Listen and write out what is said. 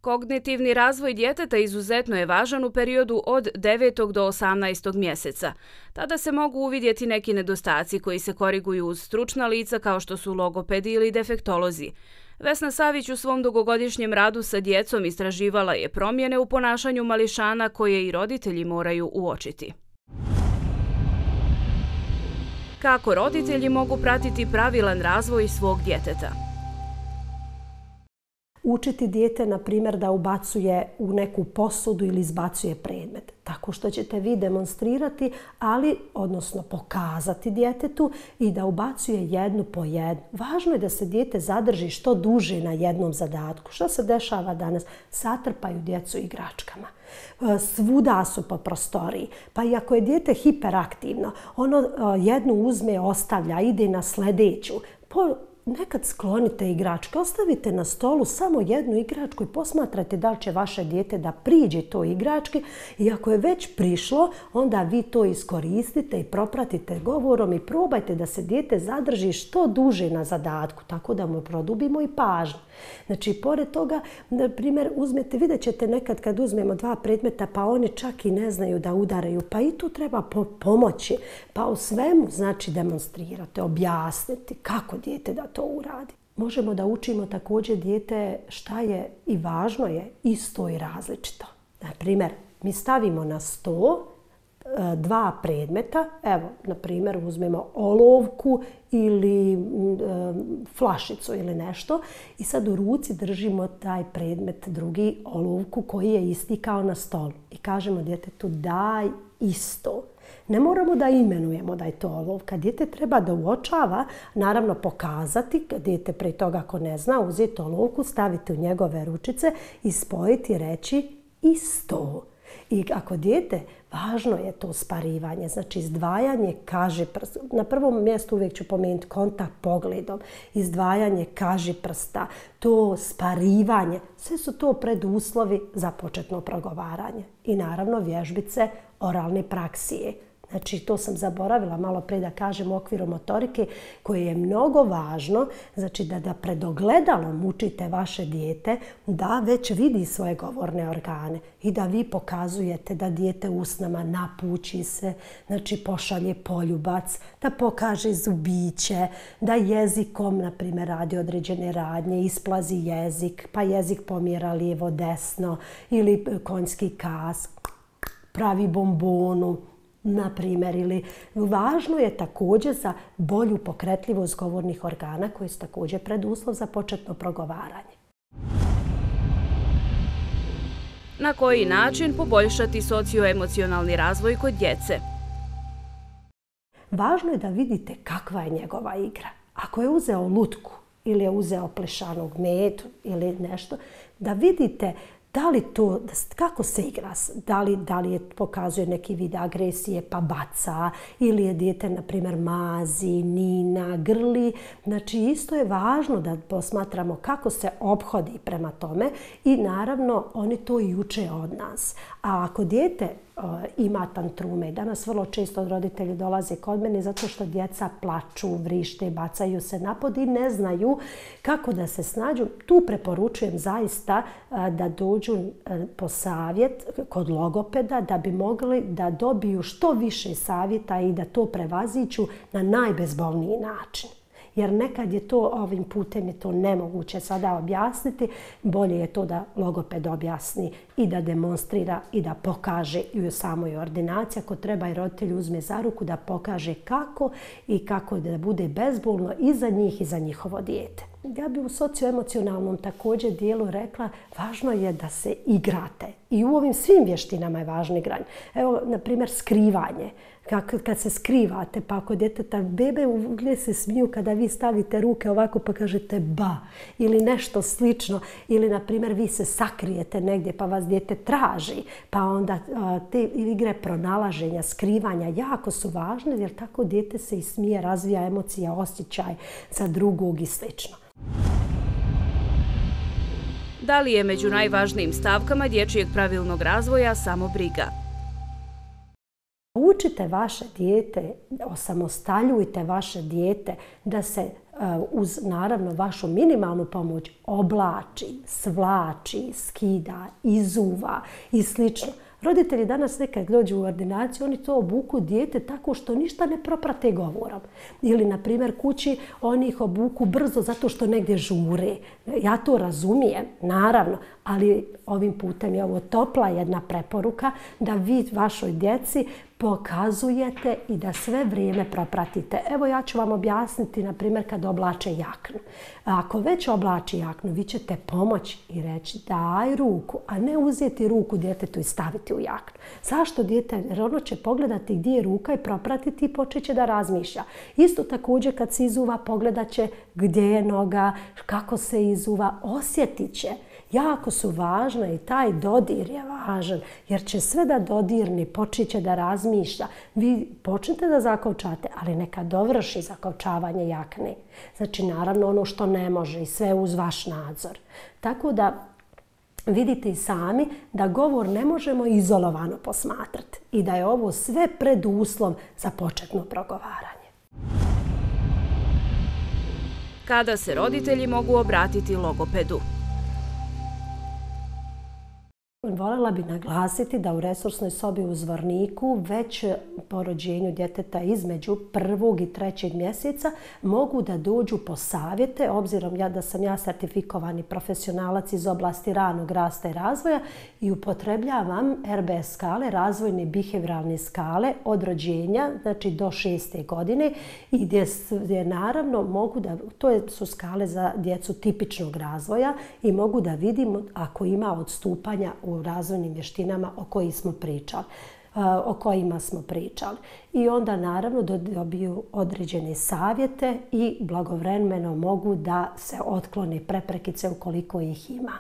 Kognitivni razvoj djeteta izuzetno je važan u periodu od 9. do 18. mjeseca. Tada se mogu uvidjeti neki nedostaci koji se koriguju uz stručna lica kao što su logopedi ili defektolozi. Vesna Savić u svom dugogodišnjem radu sa djecom istraživala je promjene u ponašanju mališana koje i roditelji moraju uočiti. Kako roditelji mogu pratiti pravilan razvoj svog djeteta? Učiti dijete, na primjer, da ubacuje u neku posudu ili izbacuje predmet. Tako što ćete vi demonstrirati, odnosno pokazati djetetu i da ubacuje jednu po jednu. Važno je da se dijete zadrži što duže na jednom zadatku. Što se dešava danas? Satrpaju djecu igračkama. Svuda su po prostoriji. Pa i ako je dijete hiperaktivno, ono jednu uzme, ostavlja, ide na sljedeću. Nekad sklonite igračke, ostavite na stolu samo jednu igračku i posmatrajte da li će vaše dijete da priđe toj igrački i ako je već prišlo, onda vi to iskoristite i propratite govorom i probajte da se dijete zadrži što duže na zadatku, tako da mu produbimo i pažnju. Znači, pored toga, na primjer, vidjet ćete nekad kad uzmemo dva predmeta pa oni čak i ne znaju da udaraju, pa i tu treba pomoći. Pa u svemu, znači, demonstrirate, objasniti kako dijete da to uradi. Možemo da učimo također dijete šta je i važno je isto i različito. Na primjer, mi stavimo na sto dva predmeta, evo, na primjer, uzmemo olovku ili flašicu ili nešto i sad u ruci držimo taj predmet, drugi olovku koji je isti kao na stolu i kažemo djetetu daj isto. Ne moramo da imenujemo da je to olovka. Dijete treba da uočava, naravno pokazati, dijete pre toga ako ne zna, uzeti olovku, staviti u njegove ručice i spojiti i reći isto. I ako dijete, važno je to sparivanje, znači izdvajanje kažiprsta. Na prvom mjestu uvijek ću pomenuti kontakt pogledom, izdvajanje kažiprsta, to sparivanje, sve su to preduslovi za početno progovaranje. I naravno vježbice oralne praksije. Znači, to sam zaboravila malo pre da kažem u okviru motorike koje je mnogo važno, znači da pred ogledalom učite vaše dijete da već vidi svoje govorne organe i da vi pokazujete da dijete usnama napući se, znači pošalje poljubac, da pokaže zubiće, da jezikom, na primjer, radi određene radnje, isplazi jezik, pa jezik pomjera lijevo desno ili konjski kas, pravi bombonu, na primjer, ili važno je također za bolju pokretljivost govornih organa koji su također preduslov za početno progovaranje. Na koji način poboljšati socioemocionalni razvoj kod djece? Važno je da vidite kakva je njegova igra. Ako je uzeo lutku ili je uzeo plešanog medu ili nešto, da vidite da li to, kako se igra, da li je pokazuje neki vid agresije pa baca ili je dijete, na primjer, mazi, nina, grli. Znači, isto je važno da posmatramo kako se ophodi prema tome i naravno oni to i uče od nas. A ako dijete ima tantrume, danas vrlo često roditelji dolaze kod mene zato što djeca plaču, vrište, bacaju se napod i ne znaju kako da se snađu. Tu preporučujem zaista da dođu po savjet kod logopeda da bi mogli da dobiju što više savjeta i da to prevaziđu na najbezbolniji način. Jer nekad je to, ovim putem je to nemoguće sada objasniti. Bolje je to da logoped objasni i da demonstrira i da pokaže i u samoj ordinaciji. Ako treba i roditelj uzme za ruku da pokaže kako i kako da bude bezbolno i za njih i za njihovo dijete. Ja bih u socioemocionalnom također dijelu rekla, važno je da se igrate. I u ovim svim vještinama je važno igranje. Evo, na primjer, skrivanje. Kad se skrivate, pa ako djeteta, bebe uvijek se smiju kada vi stavite ruke ovako pa kažete ba ili nešto slično. Ili, na primjer, vi se sakrijete negdje pa vas dijete traži. Pa onda te igre pronalaženja, skrivanja jako su važne jer tako dijete se i smije, razvija emocija, osjećaj za drugog i slično. Da li je među najvažnijim stavkama dječjeg pravilnog razvoja samo briga? Naučite vaše dijete, osamostaljujte vaše dijete da se uz naravno vašu minimalnu pomoć oblači, svlači, skida, izuva i slično. Roditelji danas nekad dođu u ordinaciju, oni to obuku dijete tako što ništa ne proprate govorom. Ili, na primjer, kući oni ih obuku brzo zato što negdje žure. Ja to razumijem, naravno, ali ovim putem je ovo topla jedna preporuka da vi vašoj djeci pokazujete i da sve vrijeme propratite. Evo ja ću vam objasniti, na primjer, kad oblače jaknu. Ako već oblači jaknu, vi ćete pomoći i reći daj ruku, a ne uzeti ruku djetetu i staviti u jaknu. Zašto dijete? Jer ono će pogledati gdje je ruka i propratiti i počet će da razmišlja. Isto također kad se izuva, pogledat će gdje je noga, kako se izuva, osjetit će. Jako su važne i taj dodir je važan jer će sve da dodirni, počet će da razmišlja. Vi počnete da zakovčate, ali neka dovrši zakovčavanje jakne. Znači, naravno, ono što ne može i sve uz vaš nadzor. Tako da vidite i sami da govor ne možemo izolovano posmatrati i da je ovo sve preduslov za početno progovaranje. Kada se roditelji mogu obratiti logopedu? Voljela bih naglasiti da u resursnoj sobi u Zvorniku već po rođenju djeteta između 1. i 3. mjeseca mogu da dođu po savjete, obzirom da sam ja sertifikovani profesionalac iz oblasti ranog rasta i razvoja i upotrebljavam RBS skale, razvojne bihevioralne skale od rođenja, znači do 6. godine i gdje naravno mogu da, to su skale za djecu tipičnog razvoja i mogu da vidimo ako ima odstupanja u razvojnim vještinama o kojima smo pričali. I onda naravno dobiju određene savjete i blagovremeno mogu da se otklone preprekice ukoliko ih ima.